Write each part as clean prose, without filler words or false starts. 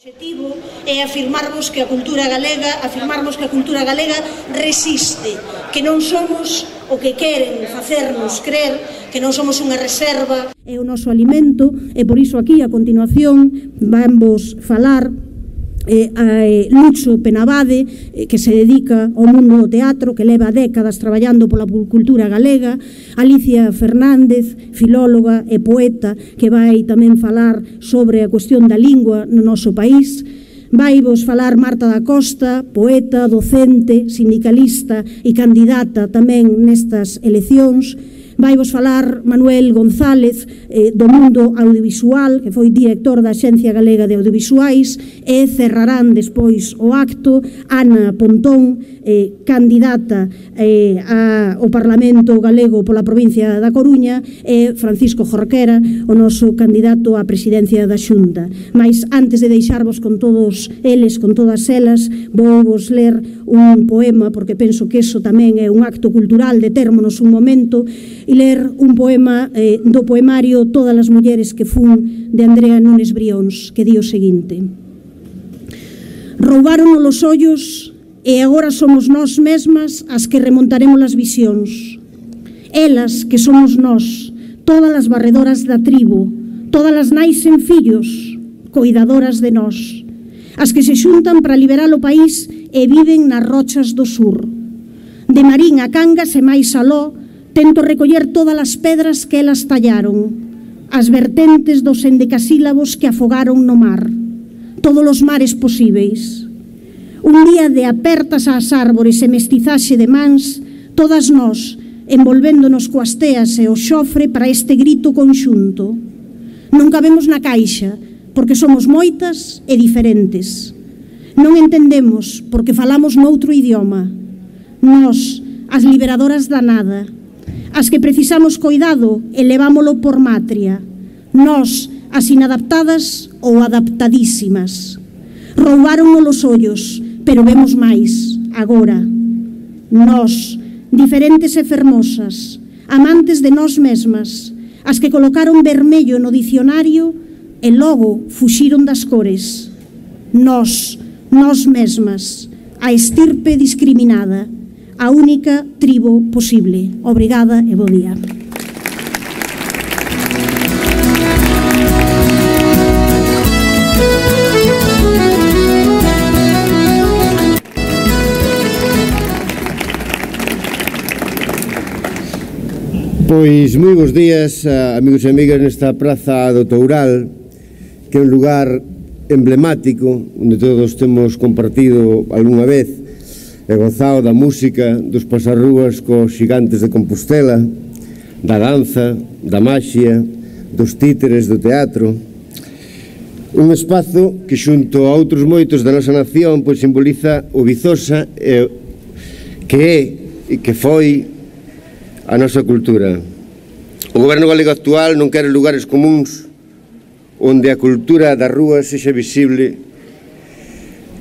O objetivo é afirmarmos que a cultura galega resiste, que non somos o que queren facernos crer, que non somos unha reserva. É o noso alimento e por iso aquí a continuación vamos falar a Lucho Penabade, que se dedica ao mundo do teatro, que leva décadas traballando pola cultura galega, Alicia Fernández, filóloga e poeta, que vai tamén falar sobre a cuestión da lingua no noso país. Vai vos falar Marta da Costa, poeta, docente, sindicalista e candidata tamén nestas eleccións. Vai vos falar Manuel González, do mundo audiovisual, que foi director da Axencia Galega de Audiovisuais, e cerrarán despois o acto Ana Pontón, candidata ao Parlamento Galego pola provincia da Coruña, e Francisco Jorquera, o noso candidato á presidencia da Xunta. Mas antes de deixarvos con todos eles, con todas elas, vou vos ler un poema, porque penso que eso tamén é un acto cultural de termos un momento, e ler un poema do poemario Todas as mulleres que fun, de Andrea Nunes Brións, que di o seguinte: roubaron os ollos e agora somos nós mesmas as que remontaremos as visións. Elas que somos nós, todas as barredoras da tribo, todas as nais en fillos, coidadoras de nós, as que se xuntan para liberar o país e viven nas rochas do sur. De Marín a Cangas e máis aló, tento recoller todas as pedras que elas tallaron, as vertentes dos endecasílabos que afogaron no mar, todos os mares posíveis. Un día de apertas ás árbores e mestizaxe de mans, todas nós, envolvéndonos coas teas e o xofre para este grito conxunto. Non cabemos na caixa, porque somos moitas e diferentes. Non entendemos porque falamos noutro idioma. Nós, as liberadoras da nada, as que precisamos coidado e levámolo por matria. Nós, as inadaptadas ou adaptadísimas. Roubaron os ollos, pero vemos máis, agora. Nós, diferentes e fermosas, amantes de nós mesmas, as que colocaron vermello no dicionario e logo fuxiron das cores. Nós mesmas, a estirpe discriminada, a única tribo posible. Obrigada e bo día. Pois moi bons días, amigos e amigas, nesta Praza do Toural, que é un lugar emblemático, onde todos temos compartido algunha vez e gozado da música, dos pasarrúas cos xigantes de Compostela, da danza, da maxia, dos títeres do teatro. Un espazo que xunto a outros moitos da nosa nación pois simboliza o Vizosa que é e que foi a nosa cultura. O goberno galego actual non quere lugares comuns onde a cultura da rúa sexa visible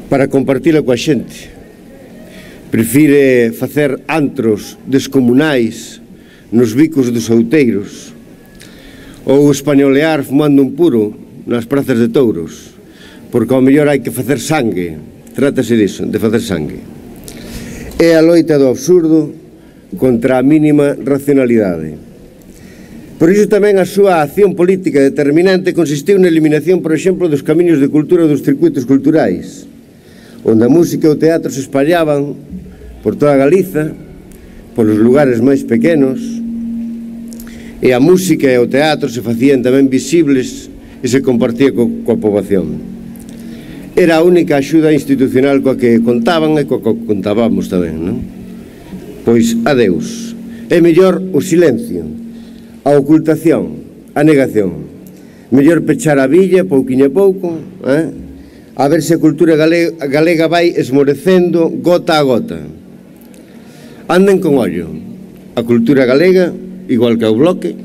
para compartila coa xente. Prefire facer antros descomunais nos bicos dos outeiros ou españolear fumando un puro nas prazas de touros, porque ao mellor hai que facer sangue. Trátase diso, de facer sangue. É a loita do absurdo contra a mínima racionalidade. Por iso tamén a súa acción política determinante consistiu na eliminación, por exemplo, dos camiños de cultura dos circuitos culturais, onde a música e o teatro se espallaban por toda Galiza, polos lugares máis pequenos, e a música e o teatro se facían tamén visibles e se compartía coa poboación. Era a única axuda institucional coa que contaban e coa que contábamos tamén, non? Pois adeus. É mellor o silencio, a ocultación, a negación. Mellor pechar a villa pouquiño a pouco, a ver se a cultura galega vai esmorecendo gota a gota. Anden con ollo. A cultura galega, igual que o Bloque,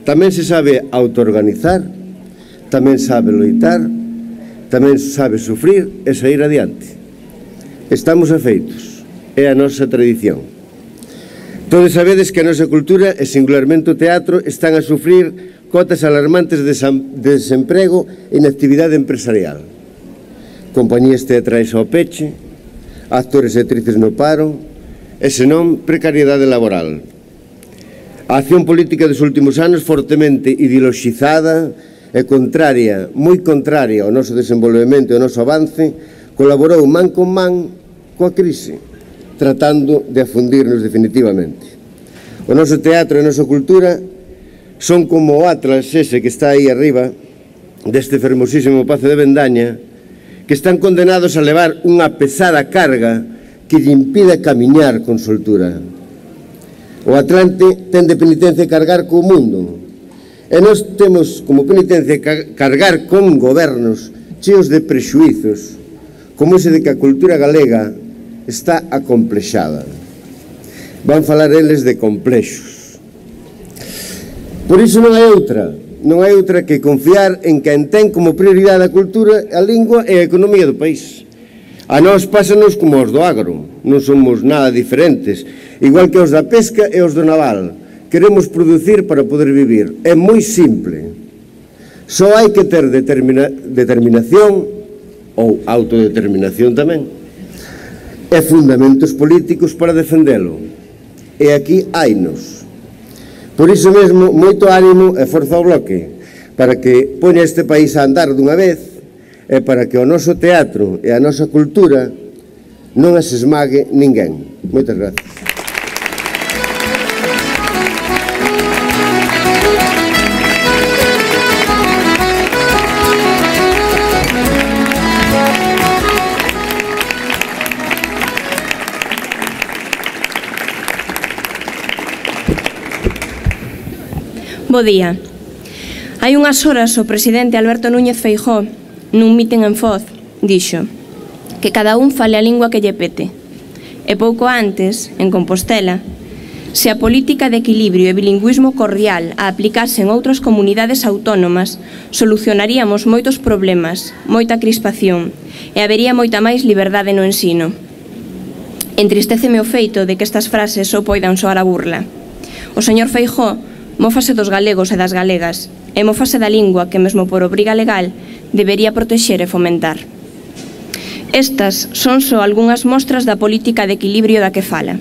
tamén se sabe autoorganizar, tamén sabe loitar, tamén sabe sufrir e sair adiante. Estamos afeitos. É a nosa tradición. Todos sabedes que a nosa cultura, e singularmente o teatro, están a sufrir cotas alarmantes de desemprego e inactividade empresarial. compañías teatrais ao peche, actores e actrices no paro, e senón precariedade laboral. A acción política dos últimos anos, fortemente ideoloxizada e contraria, moi contraria ao noso desenvolvemento e ao noso avance, colaborou man con man coa crise, tratando de afundirnos definitivamente. O noso teatro e a nosa cultura son como o Atlas ese que está aí arriba deste fermosísimo Pazo de Bendaña, que están condenados a levar unha pesada carga que lle impida camiñar con soltura. O Atlante ten de penitencia cargar co mundo, e nós temos como penitencia cargar con gobernos cheos de prexuizos, como ese de que a cultura galega está acomplexada. Van falar eles de complexos. Por iso non hai outra que confiar en quen ten como prioridade a cultura, a lingua e a economía do país. A nós pásanos como os do agro, non somos nada diferentes, igual que os da pesca e os do naval. Queremos producir para poder vivir. É moi simple. Só hai que ter determinación, ou autodeterminación tamén, e fundamentos políticos para defendelo. E aquí hainos. Por iso mesmo, moito ánimo e forza ao Bloque, para que poña este país a andar dunha vez, e para que o noso teatro e a nosa cultura non as esmague ninguén. Moitas gracias. Bo día. Hai unhas horas o presidente Alberto Núñez Feijóo, nun mitin en Foz, dixo que cada un fale a lingua que lle pete. E pouco antes, en Compostela, se a política de equilibrio e bilingüismo cordial a aplicase en outras comunidades autónomas, solucionaríamos moitos problemas, moita crispación e habería moita máis liberdade no ensino. Entristeceme o feito de que estas frases só poidan soar a burla. O señor Feijóo mófase dos galegos e das galegas e mófase da lingua que, mesmo por obriga legal, debería protexer e fomentar. Estas son só algunhas mostras da política de equilibrio da que fala.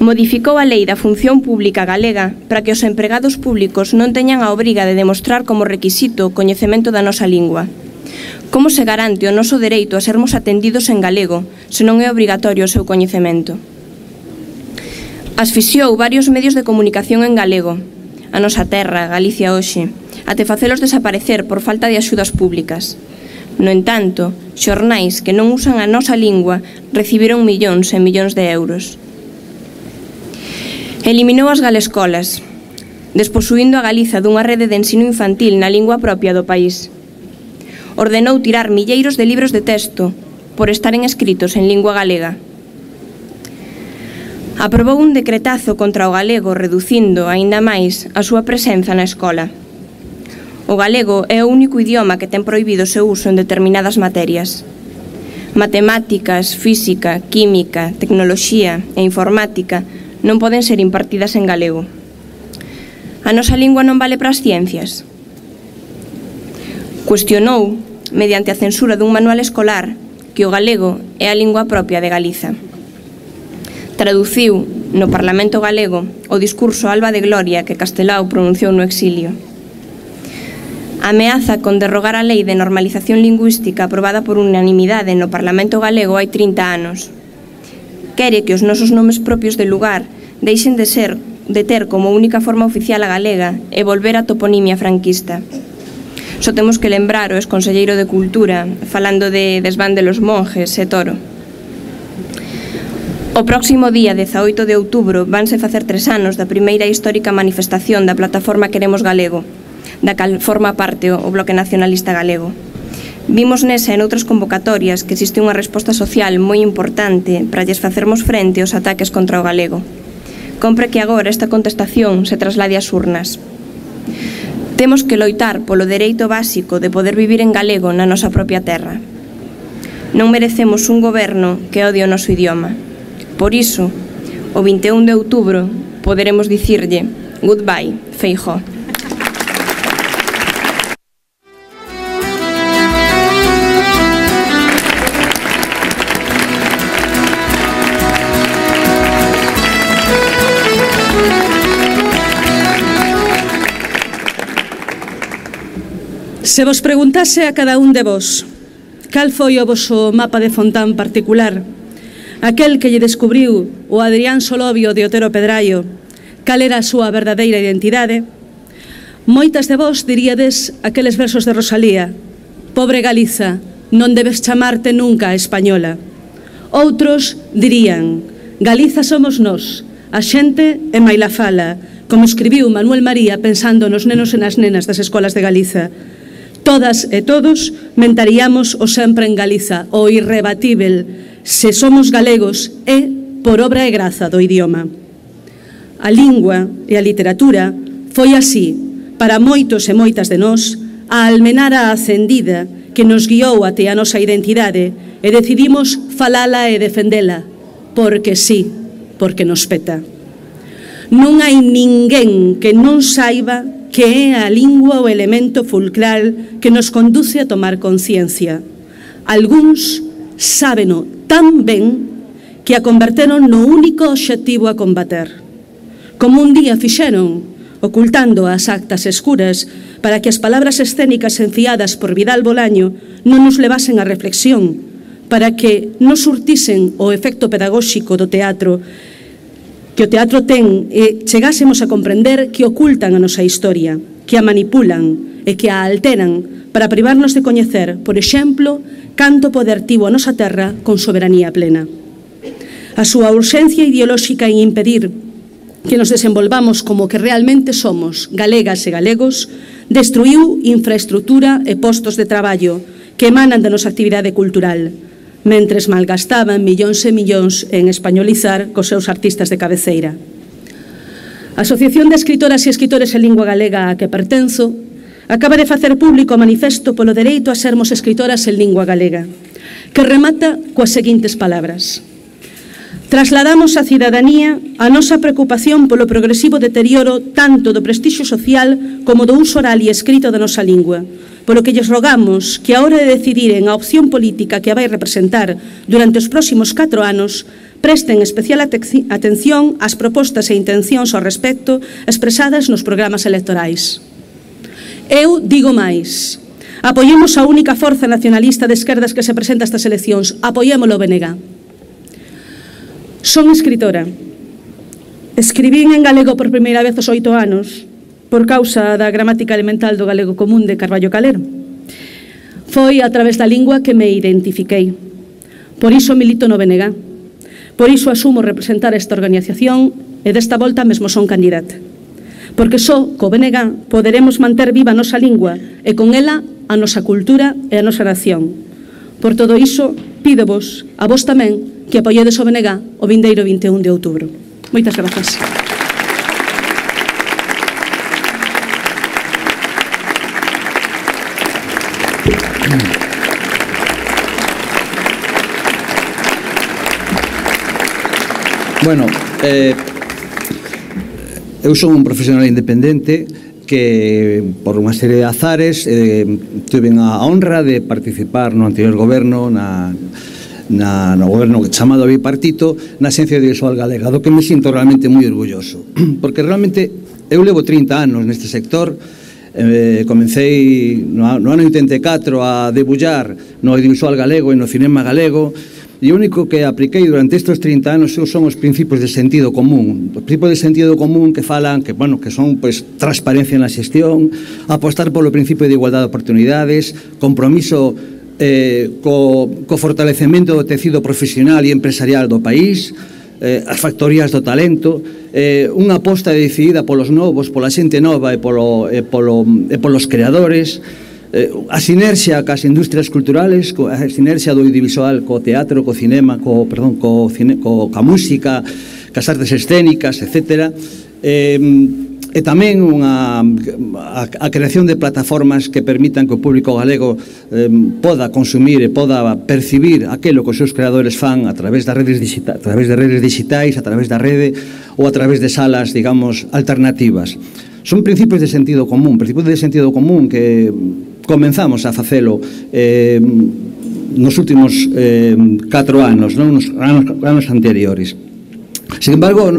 Modificou a lei da función pública galega para que os empregados públicos non teñan a obriga de demostrar como requisito o coñecemento da nosa lingua. Como se garante o noso dereito a sermos atendidos en galego se non é obrigatorio o seu coñecemento? Asfixiou varios medios de comunicación en galego, a nosa terra, Galicia hoxe, até facelos desaparecer por falta de axudas públicas. No entanto, xornais que non usan a nosa lingua recibiron millóns e millóns de euros. Eliminou as galescolas, desposuindo a Galiza dunha rede de ensino infantil na lingua propia do país. Ordenou tirar milleiros de libros de texto por estaren escritos en lingua galega. Aprobou un decretazo contra o galego reducindo aínda máis a súa presenza na escola. O galego é o único idioma que ten prohibido o seu uso en determinadas materias. Matemáticas, física, química, tecnoloxía e informática non poden ser impartidas en galego. A nosa lingua non vale para as ciencias? Cuestionou, mediante a censura dun manual escolar, que o galego é a lingua propia de Galiza. Traduciu no Parlamento galego o discurso Alba de Gloria que Castelao pronunciou no exilio. Ameaza con derrogar a lei de normalización lingüística aprobada por unanimidade no Parlamento galego hai 30 anos. Quere que os nosos nomes propios de lugar deixen de ter como única forma oficial a galega e volver a toponimia franquista. Só temos que lembrar o exconselleiro de Cultura falando de desván de los monjes e Toro. O próximo día 18 de outubro vanse facer 3 anos da primeira histórica manifestación da plataforma Queremos Galego, da cal forma parte o Bloque Nacionalista Galego. Vimos nesa e noutras convocatorias que existe unha resposta social moi importante para lles facermos frente aos ataques contra o galego. Compre que agora esta contestación se traslade ás urnas. Temos que loitar polo dereito básico de poder vivir en galego na nosa propia terra. Non merecemos un goberno que odie o noso idioma. Por iso, o 21 de outubro, poderemos dicirlle goodbye, Feijóo. Se vos preguntase a cada un de vos cal foi o voso mapa de Fontán particular, aquel que lle descubriu o Adrián Solovio de Otero Pedraio, cal era a súa verdadeira identidade, moitas de vos diríades aqueles versos de Rosalía: pobre Galiza, non debes chamarte nunca española. Outros dirían: Galiza somos nós, a xente e maila fala, como escribiu Manuel María pensando nos nenos e nas nenas das escolas de Galiza. Todas e todos mentaríamos o sempre en Galiza, o irrebatível: se somos galegos é por obra e graza do idioma. A lingua e a literatura foi así, para moitos e moitas de nós, a almenara acendida que nos guiou até a nosa identidade e decidimos falala e defendela, porque sí, porque nos peta. Non hai ninguén que non saiba que é a lingua o elemento fulcral que nos conduce a tomar conciencia. Algúns sábeno tan ben que a converteron no único obxectivo a combater. Como un día fixeron, ocultando as actas escuras para que as palabras escénicas enfiadas por Vidal Bolaño non nos levasen a reflexión, para que nos surtisen o efecto pedagóxico do teatro que o teatro ten e chegásemos a comprender que ocultan a nosa historia, que a manipulan e que a alteran para privarnos de coñecer, por exemplo, canto poder tivo a nosa terra con soberanía plena. A súa urxencia ideolóxica en impedir que nos desenvolvamos como que realmente somos, galegas e galegos, destruiu infraestrutura e postos de traballo que emanan da nosa actividade cultural, mentres malgastaban millóns e millóns en españolizar cos seus artistas de cabeceira. A Asociación de Escritoras e Escritores en Lingua Galega a que pertenzo acaba de facer público o manifesto polo dereito a sermos escritoras en lingua galega, que remata coas seguintes palabras: trasladamos á cidadanía a nosa preocupación polo progresivo deterioro tanto do prestixio social como do uso oral e escrito da nosa lingua, polo que lles rogamos que a hora de decidiren a opción política que a vai representar durante os próximos 4 anos presten especial atención ás propostas e intencións ao respecto expresadas nos programas electorais. Eu digo máis: apoiemos a única forza nacionalista de esquerdas que se presenta a estas eleccións, apoiémolo o BNG. Son escritora. Escribín en galego por primeira vez aos 8 anos por causa da gramática elemental do galego común de Carballo Calero. Foi a través da lingua que me identifiquei. Por iso milito no BNG. Por iso asumo representar esta organización e desta volta mesmo son candidata. Porque só co BNG poderemos manter viva a nosa lingua e con ela a nosa cultura e a nosa nación. Por todo iso, pídovos, a vos tamén, que apoiedes o BNG o vindeiro 21 de outubro. Moitas grazas. Bueno, eu son un profesional independente que, por unha serie de azares, tuve a honra de participar no anterior goberno, no goberno chamado bipartito, na Axencia Audiovisual Galega, do que me sinto realmente moi orgulloso. Porque realmente eu levo 30 anos neste sector. Comecei no ano 84 a debullar no audiovisual galego e no cinema galego, e o único que apliquei durante estes 30 anos son os principios de sentido común. Os principios de sentido común que falan, que son transparencia na xestión, apostar polo principio de igualdade de oportunidades, compromiso co fortalecemento do tecido profesional e empresarial do país, as factorías do talento, unha aposta decidida polos novos, pola xente nova e polos creadores, a sinerxia cas industrias culturales, a sinerxia do audiovisual co teatro, co cinema, ca música, cas artes escénicas, etc. E tamén a creación de plataformas que permitan que o público galego poda consumir e poda percibir aquilo que os seus creadores fan a través das redes digitais, a través da rede ou a través de salas, digamos, alternativas. Son principios de sentido común que comenzamos a facelo nos últimos 4 anos, nos anos anteriores. Sin embargo,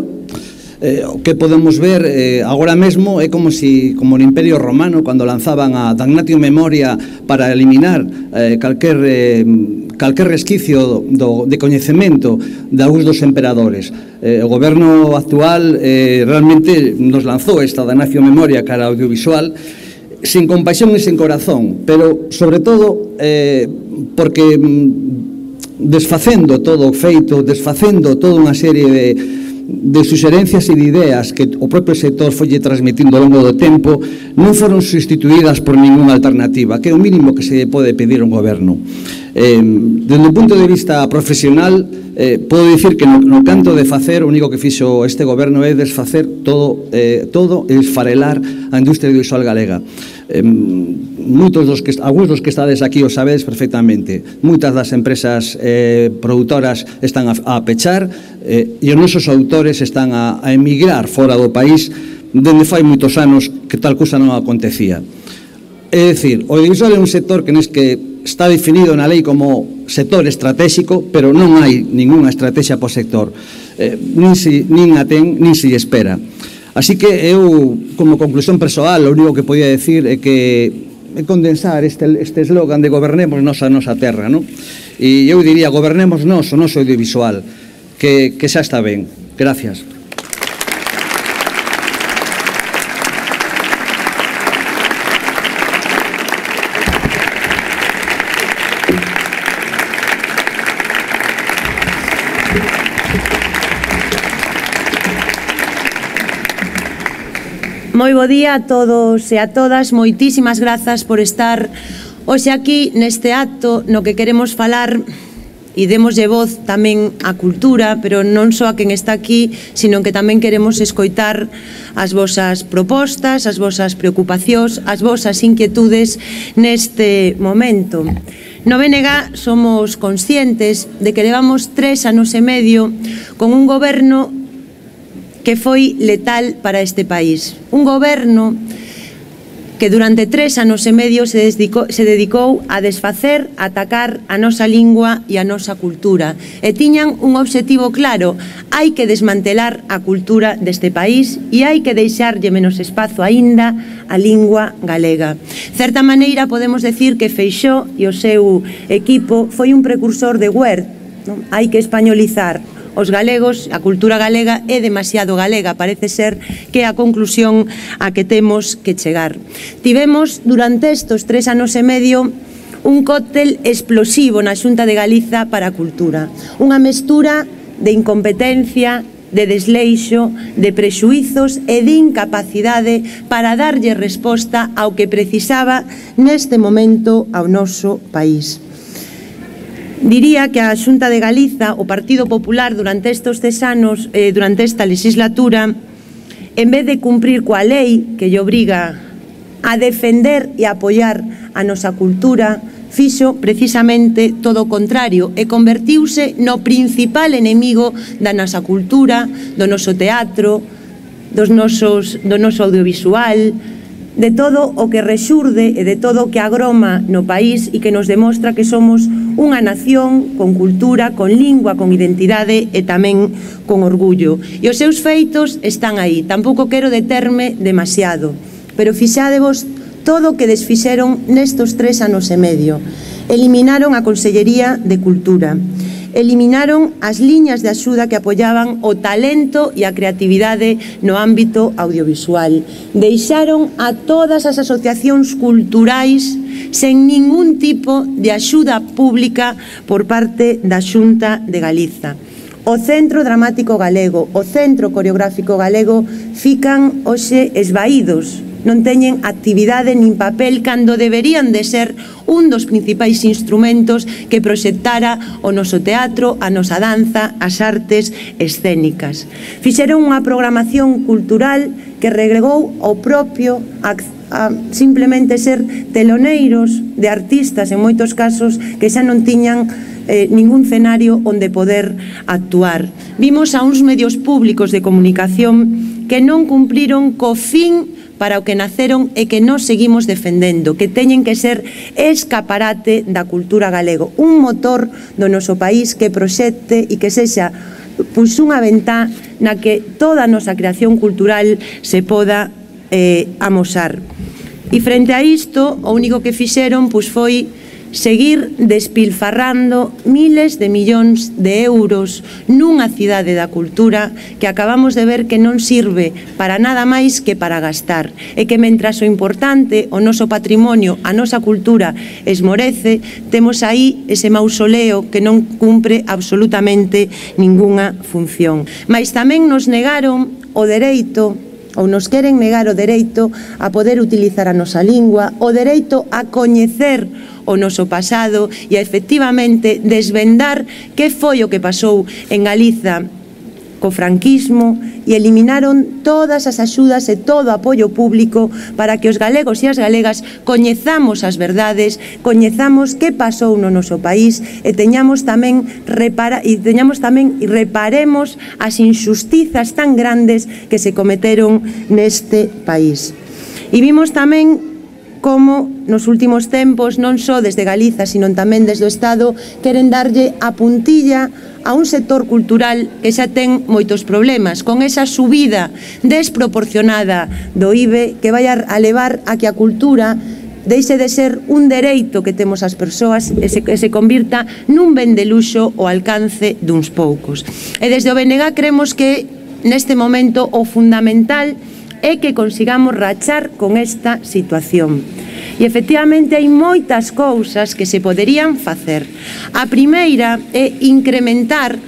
O que podemos ver agora mesmo é como no Imperio Romano, cando lanzaban a Damnatio Memoria para eliminar calquer resquicio de coñecemento de algúns dos emperadores. O goberno actual realmente nos lanzou esta Damnatio Memoria cara audiovisual sin compasión e sin corazón, pero sobre todo porque desfacendo todo o feito, desfacendo toda unha serie de suxerencias e de ideas que o propio sector folle transmitindo ao longo do tempo, non foron sustituídas por ninguna alternativa, que é o mínimo que se pode pedir a un goberno. Desde o punto de vista profesional, podo dicir que no canto de facer, o único que fixo este goberno é desfacer todo e esfarelar a industria audiovisual galega. Algúns dos que estades aquí o sabedes perfectamente. Moitas das empresas produtoras están a pechar e os nosos autores están a emigrar fora do país dende fai moitos anos que tal cousa non acontecía. É dicir, o audiovisual é un sector que está definido na lei como sector estratégico, pero non hai ninguna estrategia por sector, nin a ten, nin se espera. Así que eu, como conclusión persoal, o único que podía decir é que condensar este eslogan de gobernemos nos a nosa terra, non? E eu diría, gobernemos nos o noso audiovisual, que xa está ben. Gracias. Moi bo día a todos e a todas, moitísimas grazas por estar hoxe aquí neste acto no que queremos falar e demoslle voz tamén á cultura, pero non só a quen está aquí, sino que tamén queremos escoitar as vosas propostas, as vosas preocupacións, as vosas inquietudes neste momento. No BNG somos conscientes de que levamos 3 anos e medio con un goberno que foi letal para este país. Un goberno que durante 3 anos e medio se dedicou a desfacer, a atacar a nosa lingua e a nosa cultura. E tiñan un obxectivo claro: hai que desmantelar a cultura deste país e hai que deixarlle menos espazo aínda a lingua galega. De certa maneira podemos decir que Feixóo e o seu equipo foi un precursor de Wert. Hai que españolizar os galegos, a cultura galega é demasiado galega, parece ser que é a conclusión a que temos que chegar. Tivemos durante estes 3 anos e medio un cóctel explosivo na Xunta de Galiza para a cultura, unha mestura de incompetencia, de desleixo, de prexuizos e de incapacidade para darlle resposta ao que precisaba neste momento ao noso país. Diría que a Xunta de Galiza, o Partido Popular, durante estes 3 anos, durante esta legislatura, en vez de cumprir coa lei que lle obriga a defender e apoiar a nosa cultura, fixo precisamente todo o contrario e convertiuse no principal enemigo da nosa cultura, do noso teatro, do noso audiovisual, de todo o que rexurde e de todo o que agroma no país e que nos demostra que somos unha nación con cultura, con lingua, con identidade e tamén con orgullo. E os seus feitos están aí. Tampouco quero determe demasiado, pero fixádevos todo o que desfixeron nestos 3 anos e medio. Eliminaron a Consellería de Cultura. Eliminaron as liñas de axuda que apoiaban o talento e a creatividade no ámbito audiovisual. Deixaron a todas as asociacións culturais sen ningún tipo de axuda pública por parte da Xunta de Galiza. O Centro Dramático Galego, o Centro Coreográfico Galego fican hoxe esvaídos. Non teñen actividade nin papel cando deberían de ser un dos principais instrumentos que proxectara o noso teatro, a nosa danza, as artes escénicas. Fixeron unha programación cultural que regregou ao propio a simplemente ser teloneiros de artistas, en moitos casos, que xa non tiñan ningún escenario onde poder actuar. Vimos a uns medios públicos de comunicación que non cumpriron co fin para o que naceron e que nos seguimos defendendo, que teñen que ser escaparate da cultura galego, un motor do noso país que proxecte e que sexa unha ventá na que toda a nosa creación cultural se poda amosar. E frente a isto, o único que fixeron foi seguir despilfarrando miles de millóns de euros nunha cidade da cultura que acabamos de ver que non sirve para nada máis que para gastar, e que mentras o importante, o noso patrimonio, a nosa cultura esmorece, temos aí ese mausoleo que non cumpre absolutamente ningunha función. Mais tamén nos negaron o dereito, ou nos queren negar o dereito a poder utilizar a nosa lingua, o dereito a coñecer o noso pasado e a efectivamente desvendar que foi o que pasou en Galiza co franquismo, e eliminaron todas as axudas e todo o apoio público para que os galegos e as galegas coñezamos as verdades, coñezamos que pasou no noso país e reparemos as injustizas tan grandes que se cometeron neste país. E vimos tamén como nos últimos tempos, non só desde Galiza, sino tamén desde o Estado, queren darlle a puntilla a un sector cultural que xa ten moitos problemas, con esa subida desproporcionada do IBE que vai a levar a que a cultura deixe de ser un dereito que temos as persoas e se convirta nun ben de luxo ao alcance duns poucos. E desde o BNG creemos que neste momento o fundamental é que consigamos rachar con esta situación. E efectivamente hai moitas cousas que se poderían facer. A primeira é incrementar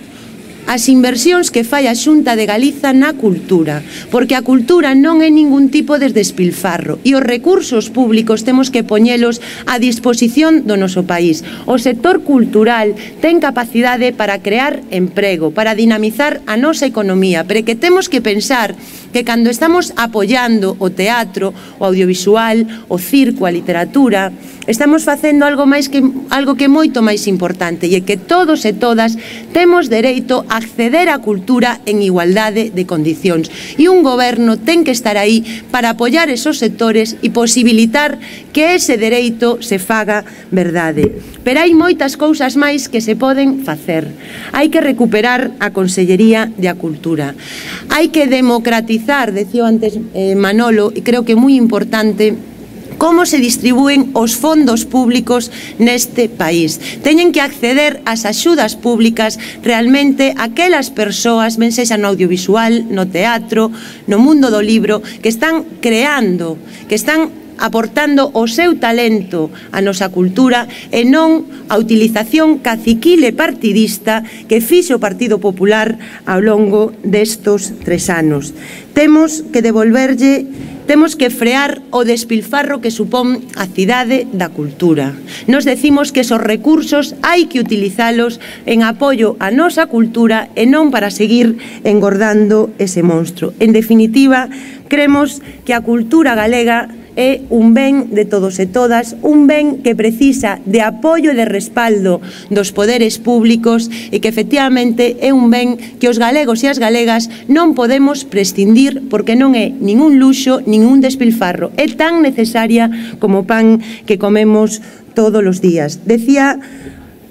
as inversións que fai a Xunta de Galiza na cultura, porque a cultura non é ningún tipo de despilfarro e os recursos públicos temos que poñelos a disposición do noso país. O sector cultural ten capacidade para crear emprego, para dinamizar a nosa economía, pero que temos que pensar que cando estamos apoiando o teatro, o audiovisual, o circo, a literatura, estamos facendo algo que é moito máis importante, e é que todos e todas temos dereito a acceder á cultura en igualdade de condicións, e un goberno ten que estar aí para apoiar esos sectores e posibilitar que ese dereito se faga verdade. Pero hai moitas cousas máis que se poden facer. Hai que recuperar a Consellería de a Cultura. Hai que democratizar, decía antes Manolo, e creo que é moi importante, como se distribúen os fondos públicos neste país. Teñen que acceder ás axudas públicas realmente aquelas persoas, ben sexa no audiovisual, no teatro, no mundo do libro, que están creando, que están aportando o seu talento á nosa cultura e non a utilización caciquil e partidista que fixo o Partido Popular ao longo destos 3 anos. Temos que frear o despilfarro que supón a cidade da cultura. Nos decimos que esos recursos hai que utilizalos en apoio á nosa cultura e non para seguir engordando ese monstro. En definitiva, cremos que a cultura galega é un ben de todos e todas, un ben que precisa de apoio e de respaldo dos poderes públicos e que efectivamente é un ben que os galegos e as galegas non podemos prescindir porque non é ningún luxo, ningún despilfarro. É tan necesaria como o pan que comemos todos os días. Decía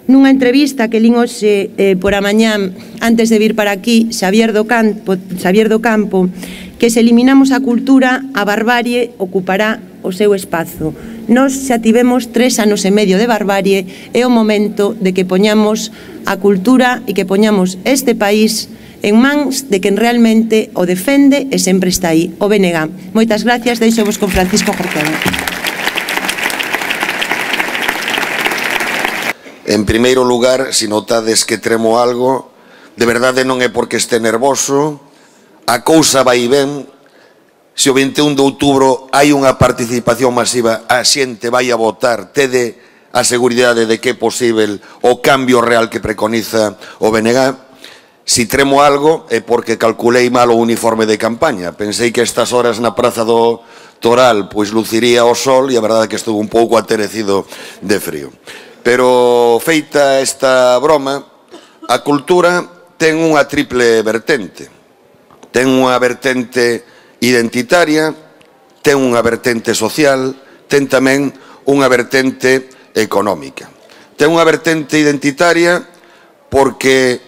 nunha entrevista que lín hoxe por a mañán antes de vir para aquí Xavier do Campo, que se eliminamos a cultura, a barbarie ocupará o seu espazo. Nós xa tivemos 3 anos e medio de barbarie, é o momento de que poñamos a cultura e que poñamos este país en mans de quen realmente o defende e sempre está aí, o BNG. Moitas gracias, deixo-vos con Francisco Jorquera. En primeiro lugar, se notades que tremo algo, de verdade non é porque este nervoso, a cousa vai ben. Se o 21 de outubro hai unha participación masiva, a xente vai a votar, tede a seguridade de que é posible o cambio real que preconiza o BNG. Si tremo algo é porque calculei mal o uniforme de campaña. Pensei que estas horas na Praza do Toral pois luciría o sol e a verdade é que estuvo un pouco aterecido de frío. Pero feita esta broma, a cultura ten unha triple vertente. Ten unha vertente identitaria, ten unha vertente social, ten tamén unha vertente económica. Ten unha vertente identitaria porque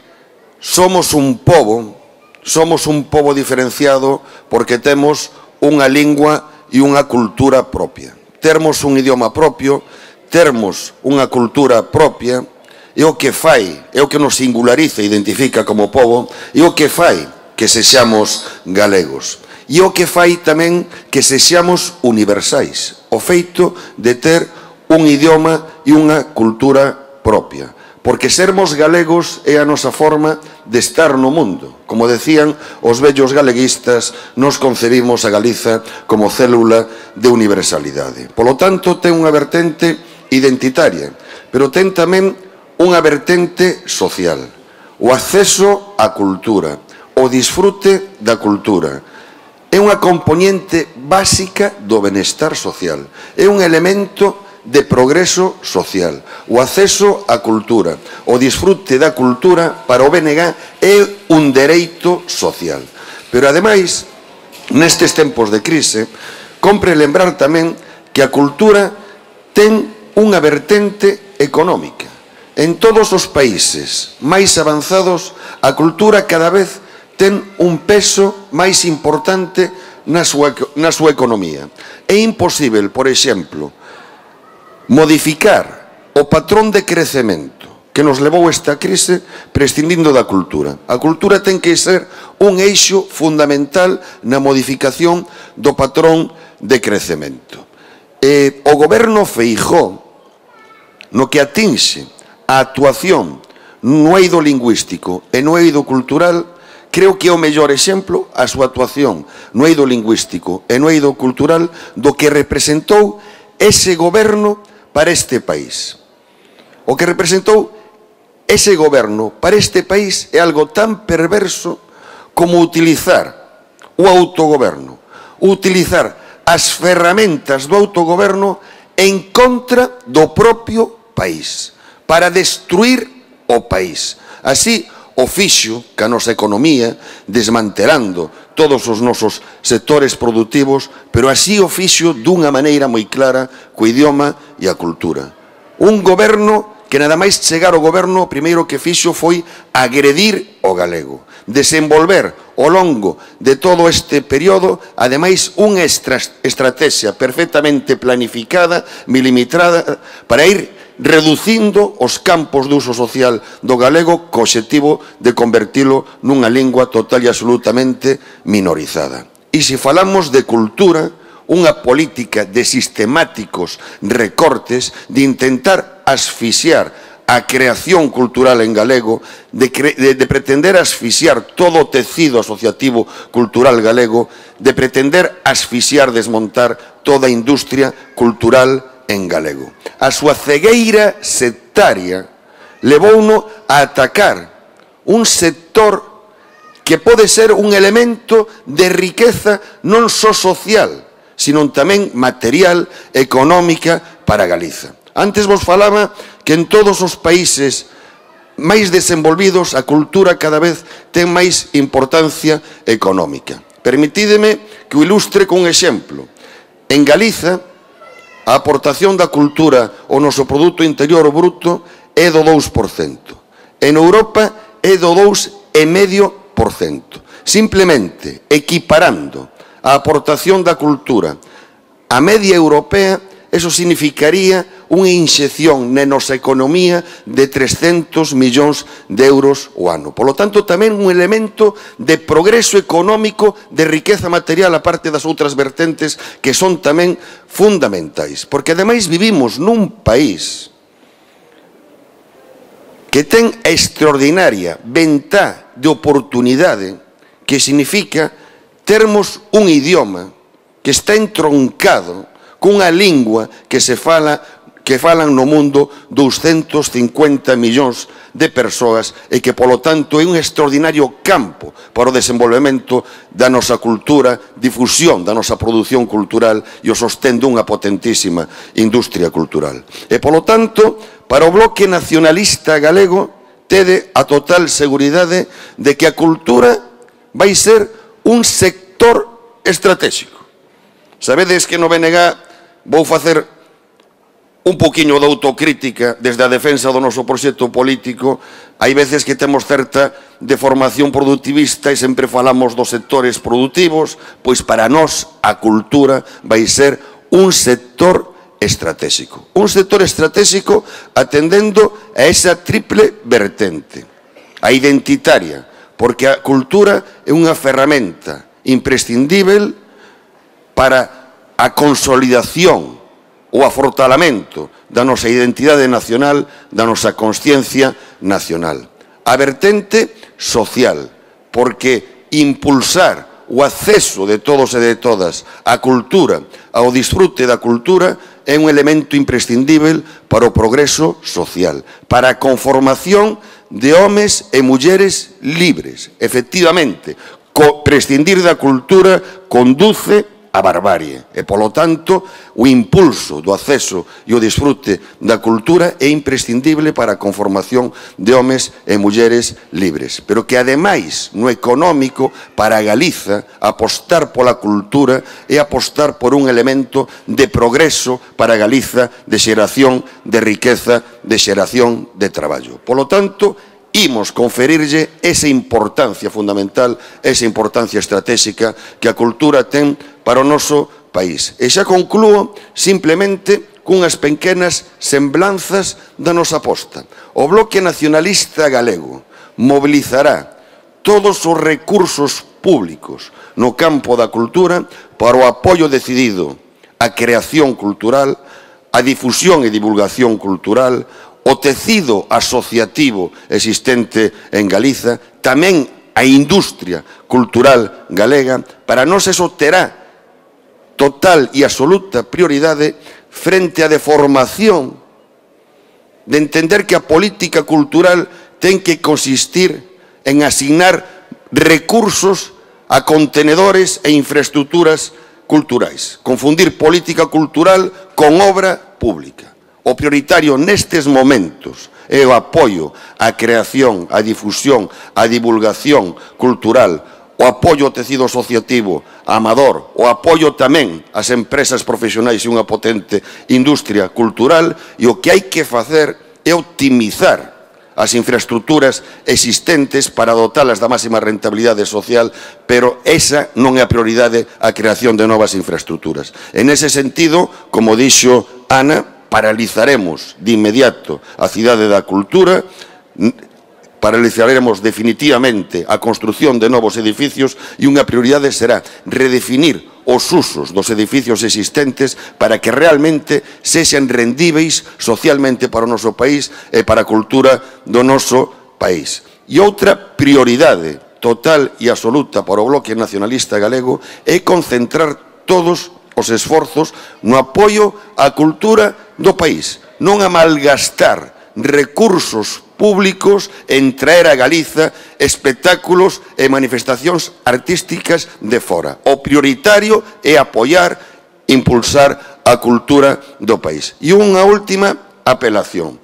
somos un pobo somos un pobo diferenciado porque temos unha lingua e unha cultura propia. Termos un idioma propio, termos unha cultura propia, é o que fai, é o que nos singulariza e identifica como pobo, é o que fai que sexamos galegos. E o que fai tamén que sexamos universais, o feito de ter un idioma e unha cultura propia. Porque sermos galegos é a nosa forma de estar no mundo. Como decían os vellos galeguistas, nos concebimos a Galiza como célula de universalidade. Polo tanto, ten unha vertente identitaria, pero ten tamén unha vertente social. O acceso á cultura, o disfrute da cultura, é unha componente básica do benestar social. É un elemento de progreso social. O acceso á cultura, o disfrute da cultura para o BNG é un dereito social. Pero, ademais, nestes tempos de crise, compre lembrar tamén que a cultura ten unha vertente económica. En todos os países máis avanzados, a cultura cada vez ten un peso máis importante na súa economía. É imposible, por exemplo, modificar o patrón de crecemento que nos levou esta crise prescindindo da cultura. A cultura ten que ser un eixo fundamental na modificación do patrón de crecemento. O goberno Feijóo, no que atinxe a actuación no eido lingüístico e no eido cultural, creo que é o mellor exemplo a súa actuación no eido lingüístico e no eido cultural do que representou ese goberno para este país. O que representou ese goberno para este país é algo tan perverso como utilizar o autogoberno, utilizar as ferramentas do autogoberno en contra do propio país, para destruir o país. Así o fixo que a nosa economía, desmantelando todos os nosos sectores productivos, pero así o fixo dunha maneira moi clara co idioma e a cultura. Un goberno que nada máis chegar ao goberno, o primeiro que fixo foi agredir o galego, desenvolver ao longo de todo este período, ademais, unha estrategia perfectamente planificada, milimetrada, para ir reducindo os campos de uso social do galego co obxectivo de convertilo nunha lingua total e absolutamente minorizada. E se falamos de cultura, unha política de sistemáticos recortes, de intentar asfixiar a creación cultural en galego, de pretender asfixiar todo o tecido asociativo cultural galego, de pretender asfixiar, desmontar toda a industria cultural en galego. A súa cegueira sectaria levouno a atacar un sector que pode ser un elemento de riqueza non só social, sino tamén material, económica para Galiza. Antes vos falaba que en todos os países máis desenvolvidos a cultura cada vez ten máis importancia económica. Permitídeme que o ilustre con un exemplo. En Galiza, a aportación da cultura ao noso Produto Interior Bruto é do 2%. En Europa é do 2,5%. Simplemente equiparando a aportación da cultura á media europea, eso significaría unha inxección na nosa economía de 300 millóns de euros o ano. Por lo tanto, tamén un elemento de progreso económico, de riqueza material, a parte das outras vertentes que son tamén fundamentais. Porque, ademais, vivimos nun país que ten a extraordinaria ventá de oportunidade que significa termos un idioma que está entroncado cunha lingua que falan no mundo 250 millóns de persoas e que, polo tanto, é un extraordinario campo para o desenvolvemento da nosa cultura, difusión da nosa produción cultural e o sostén dunha potentísima industria cultural. E, polo tanto, para o bloque nacionalista galego, tede a total seguridade de que a cultura vai ser un sector estratégico. Sabedes que no BNG vou facer un poquinho de autocrítica desde a defensa do noso proxecto político. Hai veces que temos certa deformación productivista e sempre falamos dos sectores productivos, pois para nós a cultura vai ser un sector estratégico. Un sector estratégico atendendo a esa triple vertente. A identitaria, porque a cultura é unha ferramenta imprescindível para a consolidación o afortalamento da nosa identidade nacional, da nosa consciencia nacional. A vertente social, porque impulsar o acceso de todos e de todas á cultura, ao disfrute da cultura, é un elemento imprescindível para o progreso social, para a conformación de homes e mulleres libres. Efectivamente, prescindir da cultura conduce a barbarie e, polo tanto, o impulso do acceso e o disfrute da cultura é imprescindible para a conformación de homes e mulleres libres. Pero que, ademais, no económico, para Galiza, apostar pola cultura é apostar por un elemento de progreso para Galiza, de xeración de riqueza, de xeración de traballo. Polo tanto, imos conferirlle esa importancia fundamental, esa importancia estratégica que a cultura ten para o noso país. E xa conclúo simplemente cunhas pequenas semblanzas da nosa aposta. O Bloque Nacionalista Galego mobilizará todos os recursos públicos no campo da cultura para o apoio decidido á creación cultural, á difusión e divulgación cultural, o tecido asociativo existente en Galiza, tamén a industria cultural galega. Para nós eso terá total e absoluta prioridade frente á deformación de entender que a política cultural ten que consistir en asignar recursos a contenedores e infraestructuras culturais. Confundir política cultural con obra pública. O prioritario nestes momentos é o apoio á creación, á difusión, á divulgación cultural, o apoio ao tecido asociativo, amador, o apoio tamén ás empresas profesionais e unha potente industria cultural, e o que hai que facer é optimizar as infraestructuras existentes para dotalas da máxima rentabilidade social, pero esa non é a prioridade, a creación de novas infraestructuras. En ese sentido, como dixo Ana, paralizaremos de inmediato a Cidade da Cultura, paralizaremos definitivamente a construción de novos edificios e unha prioridade será redefinir os usos dos edificios existentes para que realmente sexan rendíveis socialmente para o noso país e para a cultura do noso país. E outra prioridade total e absoluta para o Bloque Nacionalista Galego é concentrar todos os esforzos no apoio á cultura do país, non a malgastar recursos públicos en traer a Galiza espectáculos e manifestacións artísticas de fora. O prioritario é apoiar, impulsar a cultura do país. E unha última apelación.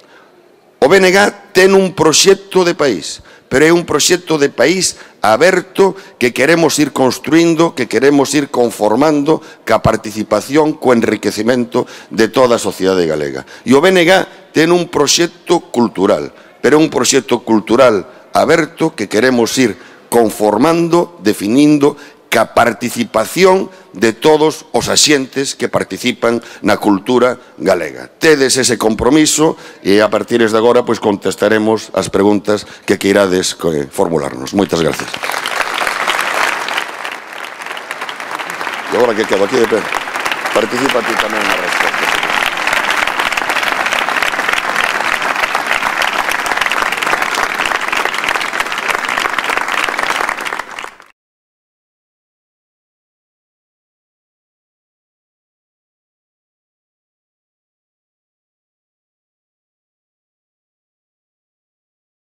O BNG ten un proxecto de país, pero é un proxecto de país aberto que queremos ir construindo, que queremos ir conformando ca participación, co enriquecimento de toda a sociedade galega. E o BNG ten un proxecto cultural, pero un proxecto cultural aberto que queremos ir conformando, definindo, ca participación de todos os axentes que participan na cultura galega. Tedes ese compromiso e a partir de agora pois contestaremos as preguntas que queirades formularnos. Moitas gracias. E agora que quedo aquí de pé, participa ti tamén na resposta.